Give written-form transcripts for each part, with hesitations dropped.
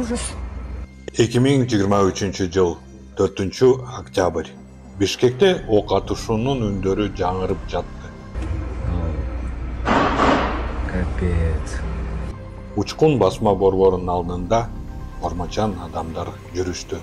ужас. 2023-жыл 4-октябрь. Бишкекте ок атышуунун үндөрү жаңырып жатты. Капец. Учкун басма борборунун алдында ормачан адамдар жүрүштү.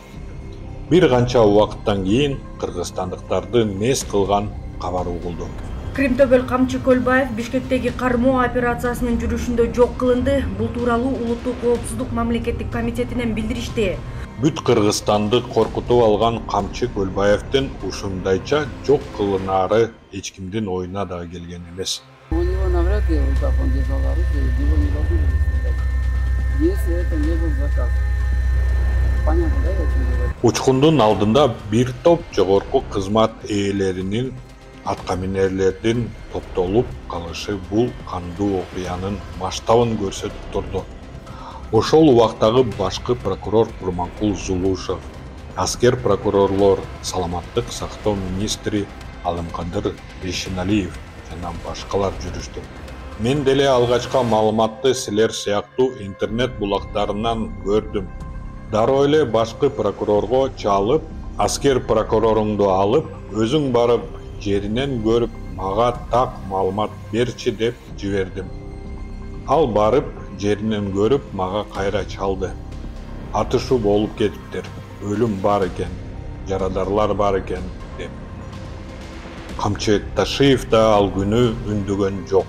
Бир канча убакыттан кийин кыргызстандыктарды мес кылган кабар угулду. Кримтөбөл Камчы Көлбаев Бишкектеги кармоо операциясынын жүрүшүндө жок кылынды. Бул тууралуу Улуттук коопсуздук мамлекеттик комитетинен билдиришти. Бүт Кыргызстанды коркутуп алган Камчы Көлбаевдин ушундайча жок кылынары эч кимдин оюна да келген эмес. У него навряд ли в руках он держал оружие, его не должны были стрелять, если это не был заказ. Понятно, да, я о чем говорю? Учкундун алдында бир топ жогорку кызмат ээлеринин аткаминерлердин топтолуп калышы бул кандуу окуянын масштабын көрсөтүп турду. Ошол убактагы башкы прокурор Курманкул Зулушев, аскер прокурорлор, саламаттык сактоо министри Алымкадыр Бейшеналиев жана башкалар жүрүштү. Мен деле алгачкы маалыматты силер сыяктуу интернет булактарынан көрдүм. Дароо эле башкы прокурорго чалып, аскер прокуроруңду алып, өзүң барып жеринен көрүп, мага так маалымат берчи деп жибердим. Ал барып, жеринен көрүп, мага кайра чалды. Атышуу болуп кетиптир, өлүм бар экен, жарадарлар бар экен деп. Камчы Ташиев да ал күнү үндөгөн жок.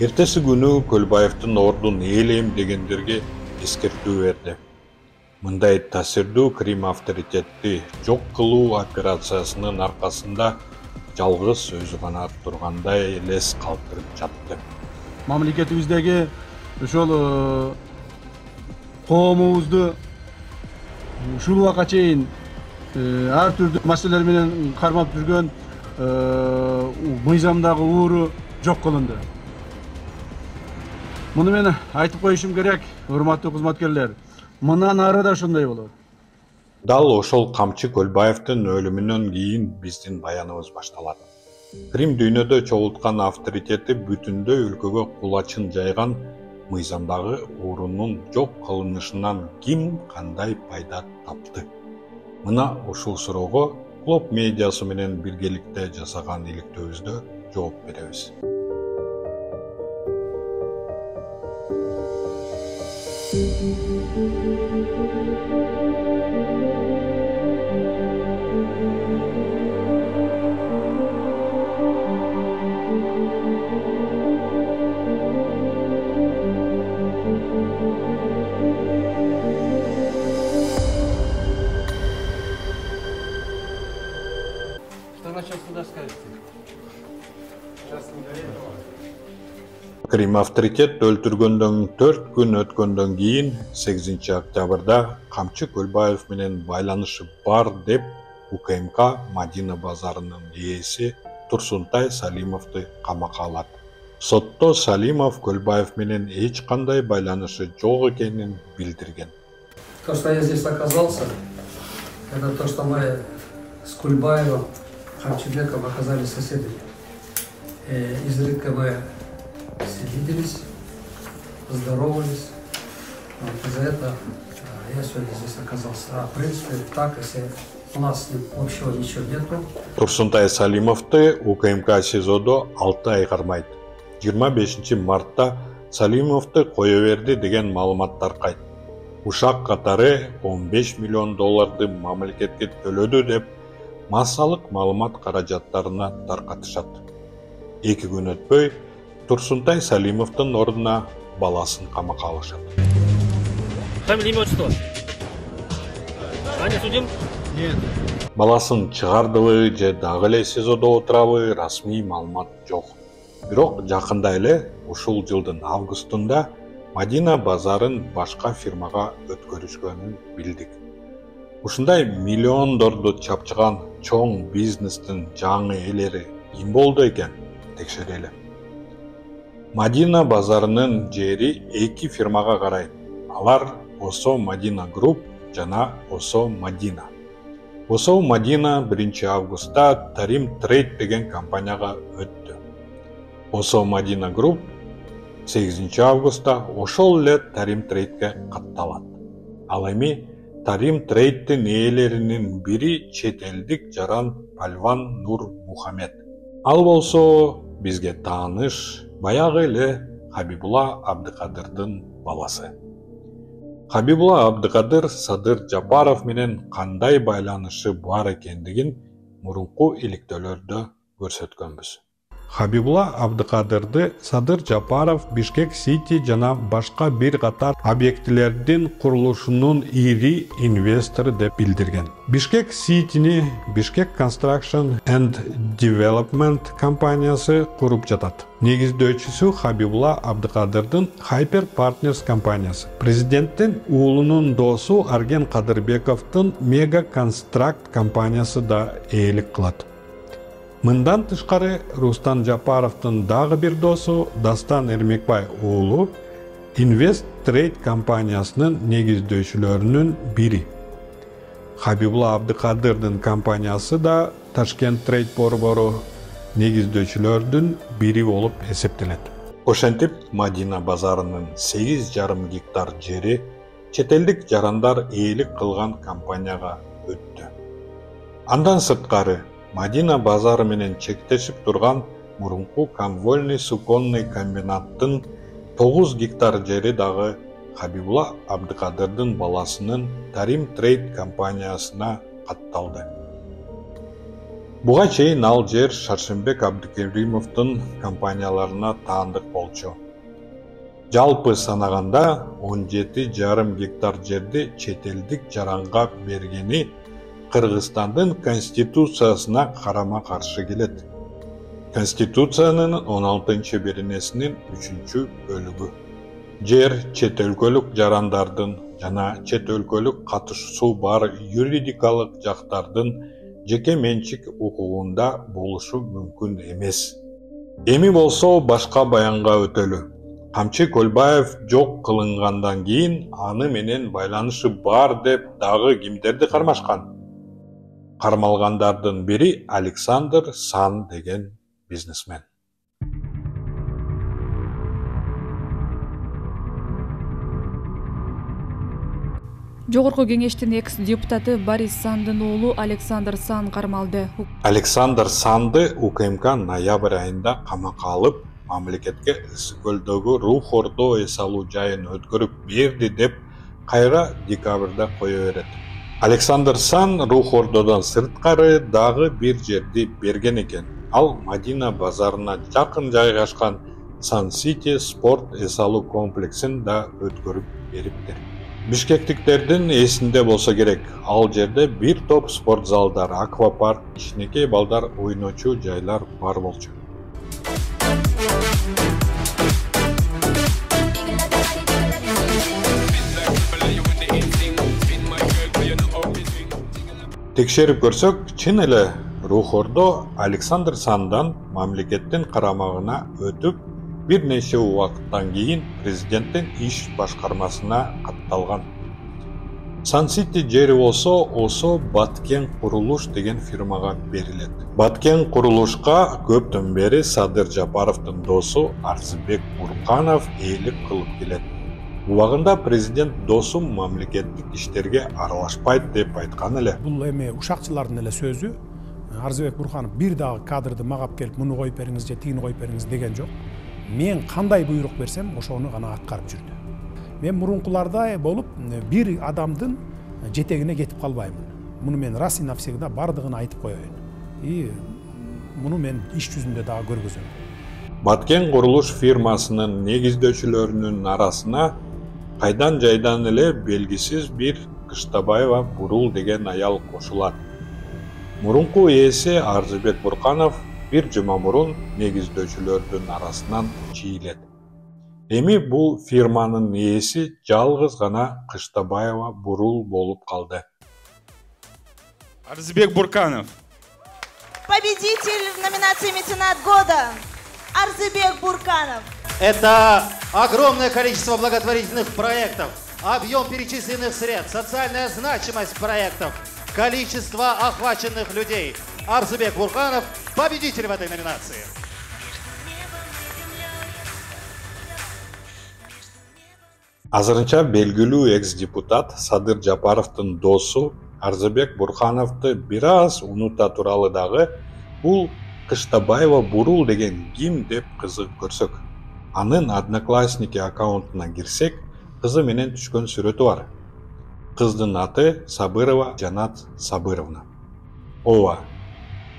Эртеси күнү Көлбаевдин ордун ээлейм дегендерге эскертүү берди. Мындай таасирдүү Крим авторитетти жок кылуу операциясынын аркасында жалгыз өзү гана тургандай элес калтырып жатты. Мамлекетибиздеги ошол коомубузду ушул убакка чейин ар түрдүү маселелер менен кармап жүргөн мыйзамдагы ууру жок кылынды. Муну мен айтып коюшум керек, урматтуу кызматкерлер. Мындан ары да ошондой болот. Дал ошол Камчы Көлбаевдин өлүмүнөн кийин биздин баяныбыз башталат. Крим дүйнөдө чогулткан авторитети бүтүндөй өлкөгө кулачын жайган мыйзамдагы уурунун жок кылынышынан ким кандай пайда тапты? Мына ушул суроого Клоп медиасы менен биргеликте жасаган иликтөөбүздө жооп беребиз. Крим авторитет өлтүргөндөн 4 күн өткөндөн кийин 8 октябрда Камчы Көлбаев менен байланышы бар деп УКМК Мадина базарынын ээси Турсунтай Салимовду камакка алат. Сотто Салимов Көлбаев менен эч кандай байланышы жок экенин билдирген. То, что я здесь оказался, это то, что мы с Кульбаевым, Камчыбеком оказались соседями. Изредка мы виделись, здоровались. Вот, за это я сегодня здесь оказался. А в принципе, так, если у нас с ним общего ничего нету. Турсунтай Салимовду УКМК СИЗОдо 6 ай кармайт. 25 мартта Салимовду кое берди деген маалымат таркайт. Ушак катары 15 миллион долларды мамлекетке төлөдү деп массалык маалымат каражаттарына таркатышат. 2 күн өтпөй Турсунтай Салимовдун ордуна баласын камакка алышат. Фамилия, имя, отчество? Аня, судим? Нет. Баласын чыгардыбы же дагы эле СИЗОдо отурабы расмий маалымат жок. Бирок жакында эле ушул жылдын августунда Мадина базарын башка фирмага өткөрүшкөнүн билдик. Ушундай миллиондорду чапчыган чоң бизнестин жаңы ээлери ким болду экен? Текшерели. Мадина базарынын жери 2 фирмага карайт. Алар Осо Мадина Груп жана Осо Мадина. Осо Мадина 1 августта Тарим Трейд деген компанияга өттү. Осо Мадина Груп 8 августта ошол эле Тарим Трейдке катталат. Ал эми Тарим Трейдтин ээлеринин бири чет элдик жаран Пальван Нур Мухаммед. Ал болсо бизге тааныш баягы эле Хабибулла Абдыкадырдын баласы. Хабибулла Абдыкадыр Садыр Жапаров менен кандай байланышы бар экендигин мурунку иликтөөлөрдө көрсөткөнбүз. Хабибулла Абдыкадырды Садыр Жапаров Бишкек Сити жана башка бир катар объектилердин курулушунун ири инвестору деп билдирген. Бишкек Ситини Бишкек Construction and Development компаниясы куруп жатат. Негиздөөчүсү Хабибулла Абдыкадырдын Hyper Partners компаниясы. Президенттин уулунун досу Арген Кадырбековдун Mega Construct компаниясы да ээлик кылат. Мындан тышкары Рустам Жапаровдун дагы бир досу Дастан Эрмекбай уулу Invest Trade компаниясынын негиздөөчүлөрүнүн бири. Хабибулла Абдыкадырдын компаниясы да Ташкент Trade борбору негиздөөчүлөрдүн бири болуп эсептелет. Ошентип Мадина базарынын 8,5 гектар жери чет элдик жарандар ээлик кылган компанияга өттү. Андан сырткары Мадина базары менен чектешип турган мурунку Конвольный суконный комбинаттын 9 гектар жери дагы Хабибулла Абдыкадырдын баласынын Тарим Трейд компаниясына катталды. Буга чейин ал жер Шаршембек Абдыкеримовдун компанияларына таандык болчу. Жалпы санаганда 17,5 гектар жерди чет элдик жаранга бергени Кыргызстандын конституциясына карама-каршы келет. Конституциянын 16-беренесинин 3-бөлүгү. Жер чет өлкөлүк жарандардын жана чет өлкөлүк катышуусу бар юридикалык жактардын жеке менчик укугунда болушу мүмкүн эмес. Эми болсо башка баянга өтөлү. Камчы Көлбаев жок кылынгандан кийин аны менен байланышы бар деп дагы кимдерди кармашкан? Кармалгандардын бири Александр Сан деген бизнесмен. Жогорку кеңештин экс-депутаты Борис Сандын уулу Александр Сан кармалды. Александр Санды УКМК ноябрь айында камакка алып, мамлекетке Ысык көлдөгү Рух Ордо эс алуу жайын өткөрүп берди деп кайра декабрда кое берет. Александр Сан Рух Ордодон сырткары дагы бир жерди берген экен. Ал Мадина базарына жакын жайгашкан Сан Сити спорт эс алуу комплексин да өткөрүп бериптир. Бишкектиктердин эсинде болсо керек, ал жерде бир топ спорт залдар, аквапарк, кичинекей балдар ойночу жайлар бар болчу. Текшерип көрсөк, чын эле Рух Ордо Александр Сандан мамлекеттин карамагына өтүп, бир нече убакыттан кийин президенттин иш башкармасына катталган. Сан Сити жери болсо Осо Баткен курулуш деген фирмага берилет. Баткен курулушка көптөн бери Садыр Жапаровдун досу Арзыбек Бурканов ээлик кылып келет. Убагында президент досум мамлекеттик иштерге аралашпайт деп айткан эле. Бул эми ушакчылардын эле сөзү. Арзыбек Бурканов бир дагы кадрды магап келип, муну коюп бериңиз же тигини коюп бериңиз деген жок. Мен кандай буйрук берсем, ошону гана аткарып жүрдү. Мен мурункулардай болуп, бир адамдын жетегине кетип калбаймын. Муну мен раз и навсегда бардыгын айтып коеюн. И муну мен иш жүзүндө дагы көргөзөм. Баткен курулуш фирмасынын негиздөөчүлөрүнүн арасына кайдан жайдан эле белгисиз бир Кыштабаева Бурул деген аял кошулат. Мурунку ээси Арзыбек Бурканов бир жума мурун негиздөөчүлөрдүн арасынан чийилет. Эми бул фирманын ээси жалгыз гана Кыштабаева Бурул болуп калды. Арзыбек Бурканов. Победитель в номинации «Меценат года» Арзыбек Бурканов. Это огромное количество благотворительных проектов, объем перечисленных средств, социальная значимость проектов, количество охваченных людей. Арзыбек Бурканов – победитель в этой номинации. Азырынча белгилүү экс-депутат Садыр Жапаровдун досу Арзыбек Бурхановду бир аз унута туралы дагы бул Кыштабаева Бурул деген ким деп кызык көрсөк. Анын Одноклассники аккаунтуна кирсек, кызы менен түшкөн сүрөтү бар. Кыздын аты Сабырова Жанат Сабыровна. Ооба,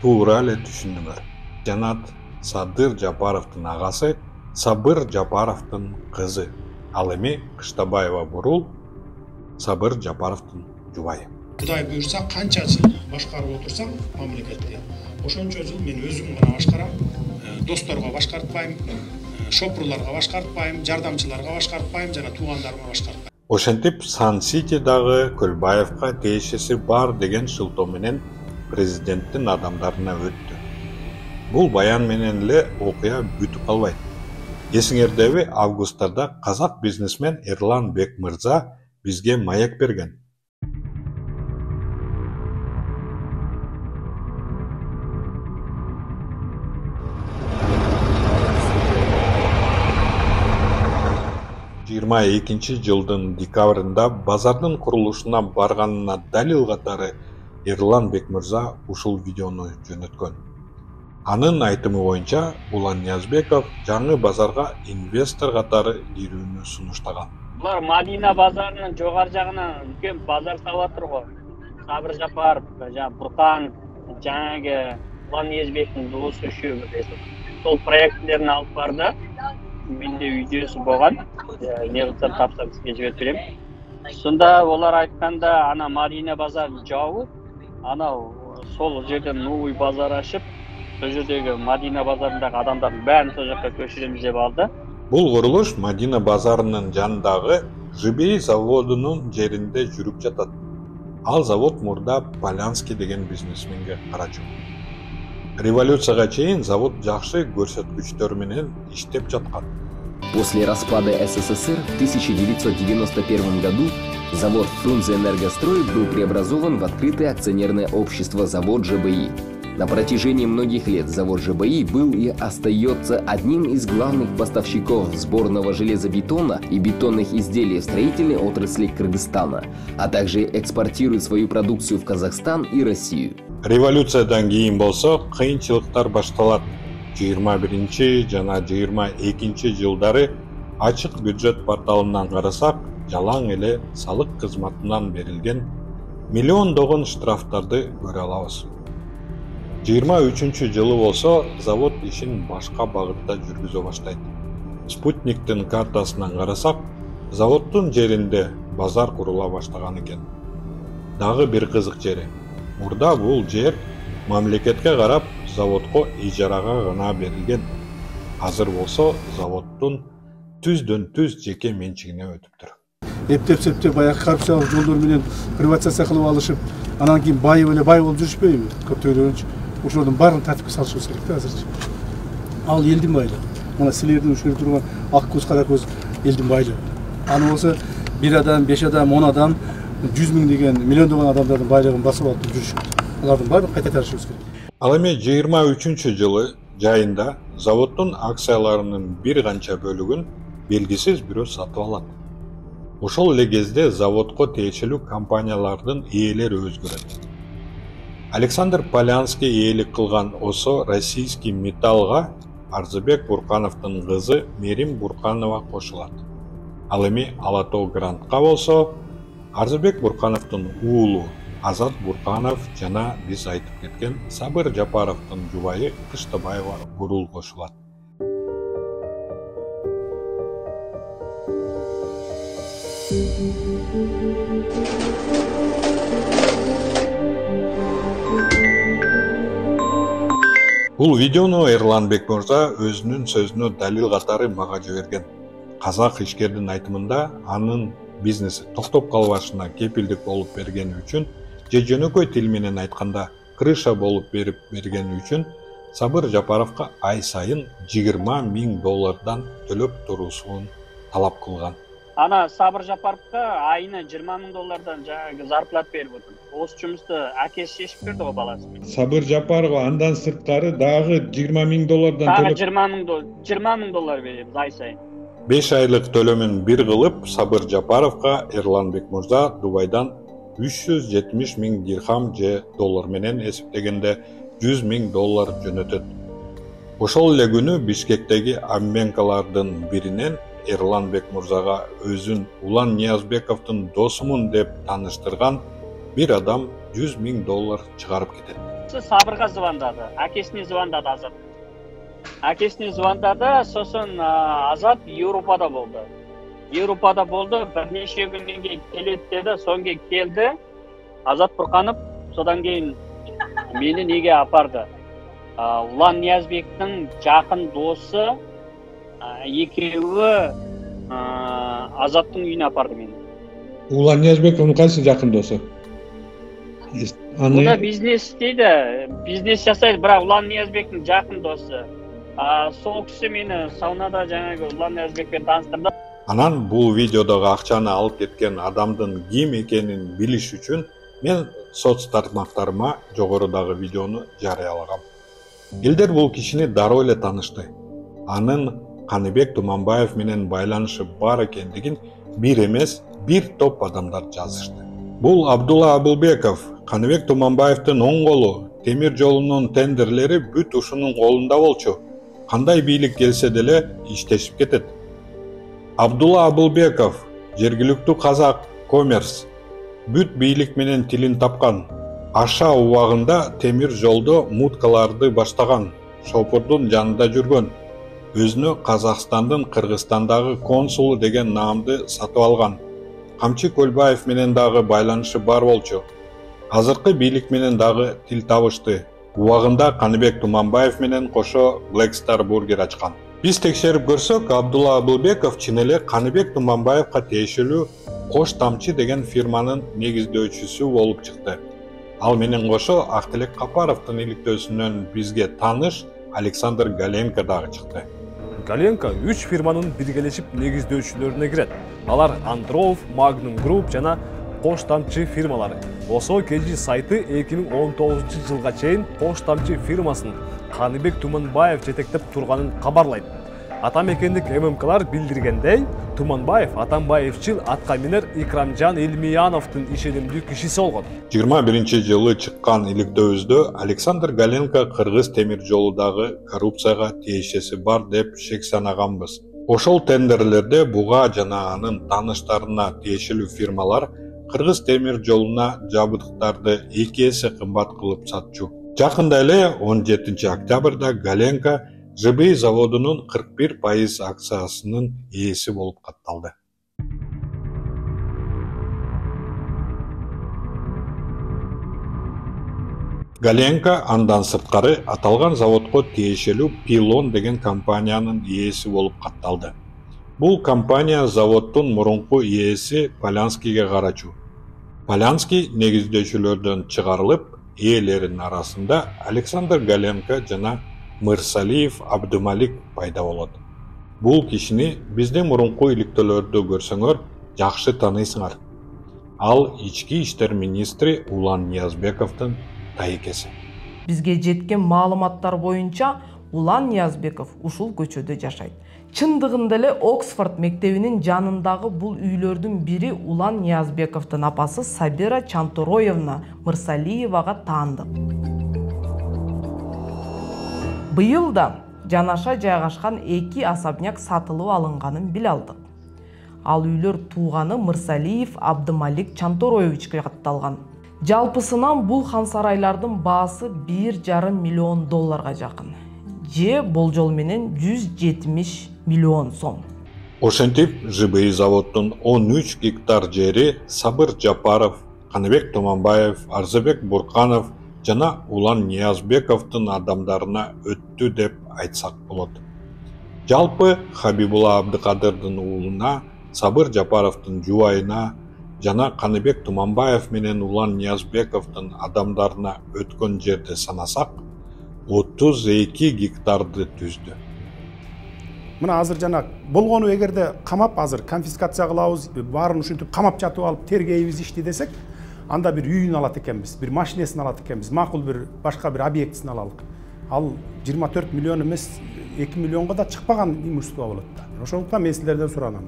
туура эле түшүндүңөр. Жанат Садыр Жапаровдун агасы, Сабыр Жапаровдун кызы. Ал эми Кыштабаева Бурул Сабыр Жапаровдун жубайы. Кудай буйрса, канча жыл башкарып отурсам мамлекетти, ошончо жыл мен өзүм гана башкарам, досторго башкартпайм, шопурларга башкартпайм, жардамчыларга башкартпайм, жана туугандарыма башкартпайм. Ошентип Сан-Сити дагы Көлбаевка тиешеси бар деген шылтоо менен президенттин адамдарына өттү. Бул баян менен эле окуя бүтүп калбайт. Эсиңердеби, августтарда казак бизнесмен Эрлан Бек мырза бизге маек берген. Жылдын декабрында базардын курулушуна барганына далил катары Эрлан Бек мырза ушул видеону жөнөткөн. Анын айтымы боюнча, Улан Ниязбеков жаңы базарга инвестор катары кирүүнү сунуштаган. Булар Мадина базарынын жогору жагынан үлкен базар салып го. Сабыр Жапаров, Буркан, жаңы Улан Ниязбектин досу үшөө сол проекттерин алып барды. Менде видеосу болгон. Не кылсам тапсам сизге жиберип берем. Сонда олар айтканда, ана Мадина базарын жабып, ана сол жерден новый базар ачып, сол жердеги Мадина базарындагы адамдардын баарын сол жакка көчүрөмүз деп алды. Бул курулуш Мадина базарынын жанындагы Жибей заводунун жеринде жүрүп жатат. Ал завод мурда Полянский деген бизнесменге карачу. Революцияга чейин завод жакшы көрсөткүчтөр менен иштеп жаткан. После распада СССР в 1991 году завод «Фрунзе-Энергострой» был преобразован в открытое акционерное общество «Завод ЖБИ». На протяжении многих лет завод ЖБИ был и остается одним из главных поставщиков сборного железобетона и бетонных изделий в строительной отрасли Кыргызстана, а также экспортирует свою продукцию в Казахстан и Россию. Революциядан кийин болсо кыйынчылыктар башталат. 21 жана 22 жылдары ачык бюджет порталынан карасак, жалаң эле салык кызматынан берилген миллиондогон штрафтарды көрө алабыз. 23 жылы болсо завод ишин башка багытта жүргүзө баштайт. Спутниктин картасынан карасак, заводдун жеринде базар курула баштаган экен. Дагы бир кызык жери. Мурда бул жер мамлекетке карап заводко ижарага гана берилген. Азыр болсо заводдун түздөн түз жеке менчигине өтүптүр. Эптеп баягы коррупциялык жолдор менен приватизация кылып алышып, анан кийин бай болуп жүрүшпөйбү? Көптөгөнчү ошолордун баарын тартипке салышыбыз керек да азырчы. Ал элдин байлыгы. Мына силердин ушул турган ак көз кара көз элдин байлыгы. Аны болсо бир адам, 5 адам, 10 адам, 100 миң деген миллиондогон адамдардын байлыгын басып алып жүрүшөт. Алардын баарын кайта тарышыбыз керек. Ал эми 23 жылы жайында заводдун акцияларынын бир канча бөлүгүн белгисиз бирөө сатып алат. Ошол эле кезде заводко тиешелүү компаниялардын ээлери өзгөрөт. Александр Полянский ээлик кылган ОСО Российский металлга Арзыбек Буркановдун кызы Мерим Бурканова кошулат. Ал эми Ала Тоо Грантка болсо Арзыбек Буркановдун уулу Азат Бурканов жана биз айтып кеткен Сабыр Жапаровдун жубайы Кыштабаева Бурул кошулат. Бул видеону Эрлан Бек мырза өзүнүн сөзүнө далил катары мага жиберген. Казак ишкердин айтымында анын бизнеси токтоп калбашына кепилдик болуп бергени үчүн, же жөнөкөй тил менен айтканда крыша болуп берип бергени үчүн Сабыр Жапаровго ай сайын $20,000 төлөп туруусун талап кылган. Ана Сабыр Жапаровго айына $20,000 жаңы зарплат берип отур. Осы жумусту акеси чечип берди го баласы. Сабыр Жапаров андан сырткары дагы $20,000 төлөп. $20,000 беребиз ай сайын. 5 айлык төлөмүн бир кылып, Сабыр Жапаровго Эрланбек мырза Дубайдан 370 000 дирхам же доллар менен эсептегенде 100 000 доллар жөнөтөт. Ошол эле күнү Бишкектеги обменкалардын биринен Эрланбек мырзага өзүн Улан Ниязбековдун досумун деп тааныштырган бир адам 100 000 доллар чыгарып кетет. Сабырга звондады, акесине звондады Азат. Акесине звондады, сосын Азат Европада болду. Бир нече күндөн кийин келет деди, соңго келди. Азат Бурканов содан кийин мени неге апарды? Улан Ниязбектин жакын досу экөөбү Азаттын үйүнө апарды мени. Улан Ниязбековдун кайсы жакын досу? Аны бизнес істейді, бизнес жасайды, бірақ Улан Ниязбектің жақын досы. Сол кісі мені саунада жаңағы Улан Ниязбекпен таныстырды. Анан бул видеодогу акчаны алып кеткен адамдын ким экенин билиш үчүн мен соц тармактарыма жогорудагы видеону жарыялагам. Элдер бул кишини дароо эле таанышты. Анын Каныбек Туманбаев менен байланышы бар экендигин бир эмес, бир топ адамдар жазышты. Бул Абдулла Абылбеков, Каныбек Туманбаевдин оң колу, темир жолунун тендерлери бүт ушунун колунда болчу. Кандай бийлик келсе деле иштешип кетет. Абдулла Абылбеков, жергиликтүү казак коммерс, бүт бийлик менен тилин тапкан. Аша убагында темир жолдо муткаларды баштаган, шопурдун жанында жүргөн. Өзүнө Казакстандын Кыргызстандагы консулу деген наамды сатып алган. Камчы Көлбаев менен дагы байланышы бар болчу. Азыркы бийлик менен дагы тил табышты. Убагында Каныбек Туманбаев менен кошо Black Star Burger ачкан. Биз текшерип көрсөк, Абдулла Абылбеков чын эле Каныбек Туманбаевга тиешелүү Кош Тамчы деген фирманын негиздөөчүсү болуп чыкты. Ал менен кошо Актилек Капаровдун иликтөөсүнөн бизге тааныш Александр Галенко дагы чыкты. Галенко 3 фирманын биргелешип негиздөөчүлөрүнө кирет. Алар Андроов, Magnum Group жана Кош Тамчы фирмалары. Осо KG сайты 2019-жылга чейин Кош Тамчы фирмасын Каныбек Туманбаев жетектеп турганын кабарлайт. Атамекендик ММКлар билдиргендей, Туманбаев Атамбаевчил аткаминер Икрамжан Элмияновдун ишенимдүү кишиси болгон. 21-жылы чыккан иликтөөбүздө Александр Галенко Кыргыз темир жолудагы коррупцияга тиешеси бар деп шек санаганбыз. Ошол тендерлерде буга жана анын тааныштарына тиешелүү фирмалар Кыргыз темир жолуна жабдыктарды 2 эсе кымбат кылып сатчу. Жакында эле 17 октябрда Галенко ЖБИ заводунун 41% акциясынын ээси болуп катталды. Галенко андан сырткары аталган заводко тиешелүү Пилон деген компаниянын ээси болуп катталды. Бул компания заводдун мурунку ээси Полянскийге карачу. Полянский негиздөөчүлөрдөн чыгарылып, ээлеринин арасында Александр Галенко жана Мырсалиев Абдымалик пайда болот. Бул кишини биздин мурунку иликтөөлөрдө көрсөңөр жакшы тааныйсыңар. Ал ички иштер министри Улан Ниязбековдун тайекеси. Бизге жеткен маалыматтар боюнча Улан Ниязбеков ушул көчөдө жашайт. Чындыгында эле Оксфорд мектебинин жанындагы бул үйлөрдүн бири Улан Ниязбековдун апасы Сабира Чантороевна Мырсалиевага таандык. Быйыл да жанаша жайгашкан 2 особняк сатылып алынганын биле алдык. Ал үйлөр тууганы Мырсалиев Абдымалик Чантороевичке катталган. Жалпысынан бул хан сарайлардын баасы 1,5 миллион долларга жакын. Же болжол менен 170 миллион сом. Ошентип, ЖБИ заводдун 13 гектар жери Сабыр Жапаров, Каныбек Туманбаев, Арзыбек Бурканов жана Улан Ниязбековдун адамдарына өттү деп айтсак болот. Жалпы Хабибулла Абдыкадырдын уулуна, Сабыр Жапаровдун жубайына жана Каныбек Туманбаев менен Улан Ниязбековдун адамдарына өткөн жерди санасак, 32 гектарды түздү. Мына азыр жана болгону эгерде камап азыр конфискация кылабыз, баарын ушинтип камап жатып алып тергейбиз ишти десек, анда бир үйүн алат экенбиз, бир машинесин алат экенбиз, макул бир башка бир объектисин алалык. ал 24 миллион эмес 2 миллионго да чыкпаган имущество болот да. Ошондуктан мен силерден суранам.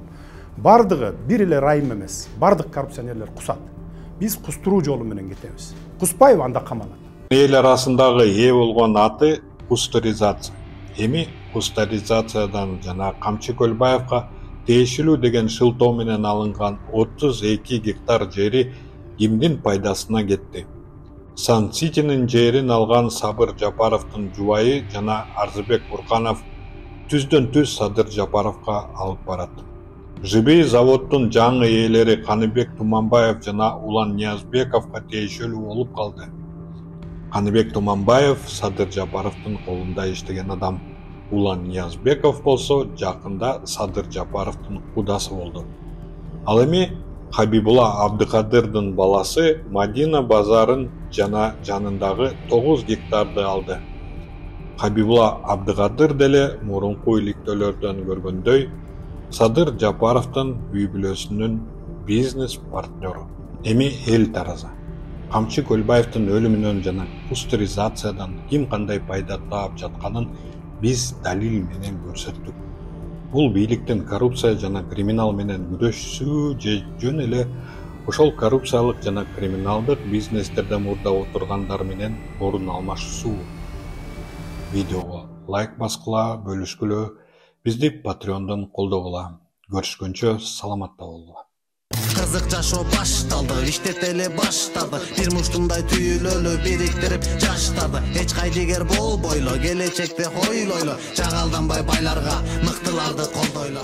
Бардыгы бир эле райым эмес, бардык коррупционерлер кусат. Биз кустуруу жолу менен кетебиз. Куспайбы анда камалат. Эл арасындагы ээ болгон аты кустуризация. Эми кустуризациядан жана Камчы Көлбаевка тиешелүү деген шылтоо менен алынган 32 гектар жери кимдин пайдасына кетти? Сан-Ситинин жерин алган Сабыр Жапаровдун жубайы жана Арзыбек Бурканов түздөн түз Садыр Жапаровго алып барат. ЖБИ заводдун жаңы ээлери Каныбек Туманбаев жана Улан Ниязбековго тиешелүү болуп калды. Каныбек Туманбаев Садыр Жапаровдун колунда иштеген адам. Улан Ниязбеков болсо жакында Садыр Жапаровдун кудасы болду. Ал эми Хабибула Абдыкадырдын баласы Мадина базарын жана жанындагы 9 гектарды алды. Хабибула Абдыкадыр деле мурунку иликтөөлөрдөн көргөндөй Садыр Жапаровдун үй бүлөсүнүн бизнес партнеру. Эми эл тараза. Камчы Көлбаевдин өлүмүнөн жана кустуризациядан ким кандай пайда таап жатканын биз далил менен көрсөттүк. Бул бийликтин коррупция жана криминал менен күрөшүү же жөн эле ошол коррупциялык жана криминалдык бизнестерде мурда отургандар менен орун алмашуу. Видеого лайк баскыла, бөлүшкүлө, бизди Patreon'дан колдогула. Көрүшкөнчө саламатта болгула. Кызык жашоо башталды, иштетели баштады. Бир муштумдай түйүлөлү бириктирип жаштарды. Эч кайдыгер болбойлу, келечекте хойлойлу. Жагалданбай байларга, мыктыларды колдойлу.